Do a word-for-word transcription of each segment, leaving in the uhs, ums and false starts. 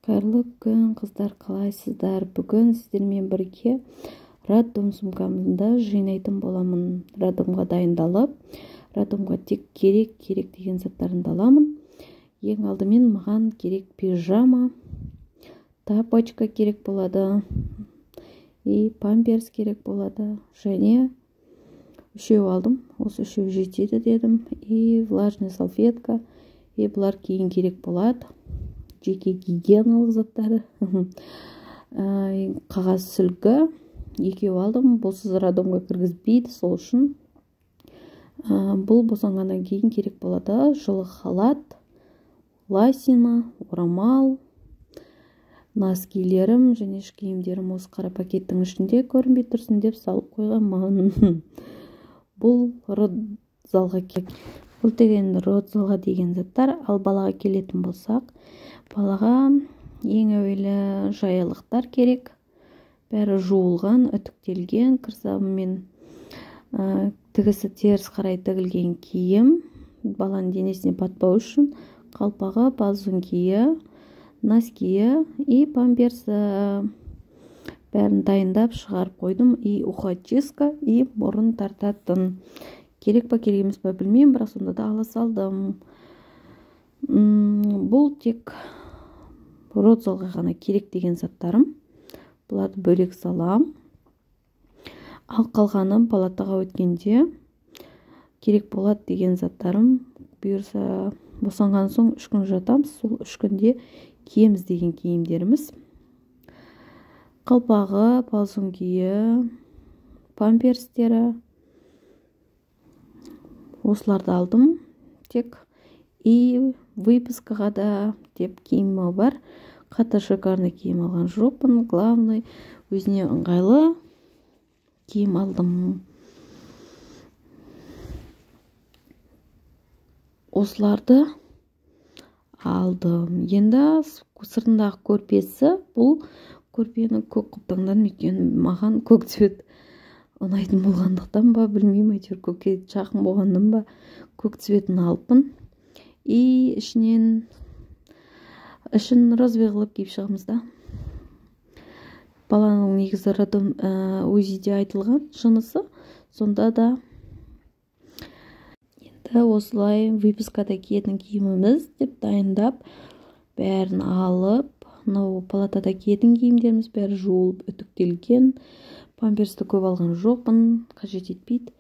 Қайырлы күн, қыздар, қалайсыздар? Бүгін сіздермен бірге роддом сумкамды жинайтын боламын. Роддомға дайындалып, роддомға тек керек керек деген заттарымды аламын. Ең алдымен маған керек пижама, тапочка керек болады, и памперс керек болады. Және үшеу алдым, осы үшеу жетеді дедім, и влажный салфетка, и бұлар кейін керек болады. Жеке гигиеналық заттары, қағаз сүлгі екеу алдым. Бұлсыз роддомға кіргізбейді, сол үшін бұл босанғаннан кейін керек болады. Жылы халат, лосина, орамал, носкилерім және іш киімдерім осы қара пакеттің ішінде көрінбей тұрсын деп салып қойғанмын. Бұл родзалға бұл деген родзалға деген заттар. Ал балаға келетін болсақ, балаға ең әуелі жаялықтар керек. Бәрі жуылған, үтіктелген, кірсабымен тігісі теріс қарай тігілген киім. Баланың денесіне батпау үшін қалпағы, ползункиі, носкиі и памперсі бәрін дайындап шығарып қойдым. И ухачистка, и мұрын тартатын. Керек па керек емес па білмеймін, бірақ сонда да ала салдым. Бұл тек родзалға ғана керек деген заттарым. Бұларды бөлек салам. Ал қалғаны палатаға өткенде керек болады деген заттарым. Бұйырса босанған соң үш күн жатамыз. Сол үш күнде киеміз деген киімдеріміз. Қалпағы, ползункиі, памперстері. Осыларды алдым. Тек и выпускаға да деп киімі бар. Қатты шикарный киім алған жоқпын. Главный өзіне ыңғайлы киім алдым. Осыларды алдым. Енді сыртындағы көрпесі, бұл көрпені көк құптаңдан, өйткені маған көк цвет ұнайтын болғандықтан ба, білмеймін, әйтеуір көкке жақын болғаннан ба, көк цветін алыппын. И ішінен ішін розовый қылып киіп шығамыз да. Баланың негізі роддом УЗИде айтылған жынысы, сонда да енді осылай выпускада киетін киіміміз деп дайындап, бәрін алып, мынау палатада киетін киімдеріміз бәрі жуылып, үтіктелген. Памперсті көп алған жоқпын, қажет етпейді.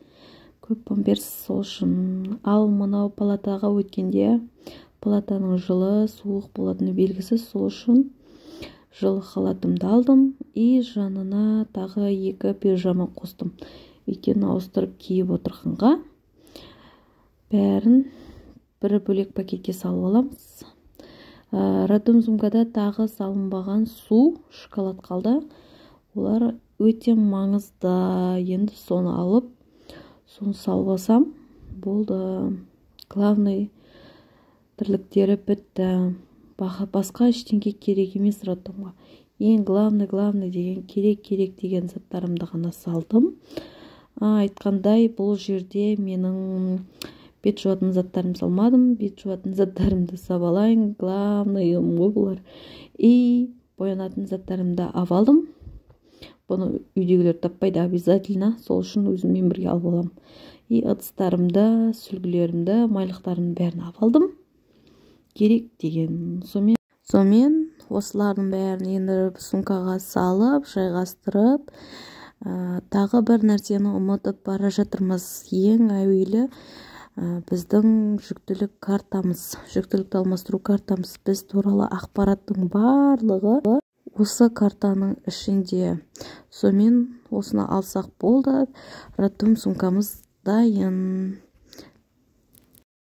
Көп памперс сол үшін. Ал мынау палатаға өткенде палатаның жылы, суық болатыны белгісіз, сол үшін жылы халатымды алдым. И жанына тағы екі пижама қостым. Өйткені ауыстырып киіп отырғанға бәрін бір бөлек пакетке салып аламыз. Роддом сумкада тағы салынбаған су, шоколад қалды. Олар өте маңызды. Енді соны алып, соны салып алсам, болды. Главный тірліктері бітті. Басқа ештеңе керек емес роддомға. Ең главный, главный деген, керек керек деген заттарымды ғана салдым. Айтқандай, бұл жерде менің бет жуатын заттарым салмадым. Бет жуатын заттарымды сабалайын. Главный бұлар. И боянатын заттарымды авалдым. Бұны үйдегілер таппайды обязательно. Сол үшін өзіммен бірге алып аламын. И ыдыстарымды, сүлгілерімді, майлықтарымды бәрін авалдым. Керек деген. Сомен осылардың бәрін енді сумкаға салып, жайғастырып, тағы бір нәрсені ұмытып бара жатырмыз. Ең әуелі біздің жүктілік картамыз, жүктілікті алмастыру картамыз. Біз туралы ақпараттың барлығы осы картаның ішінде. Сомен осыны алсақ болды. Роддом сумкамыз дайын.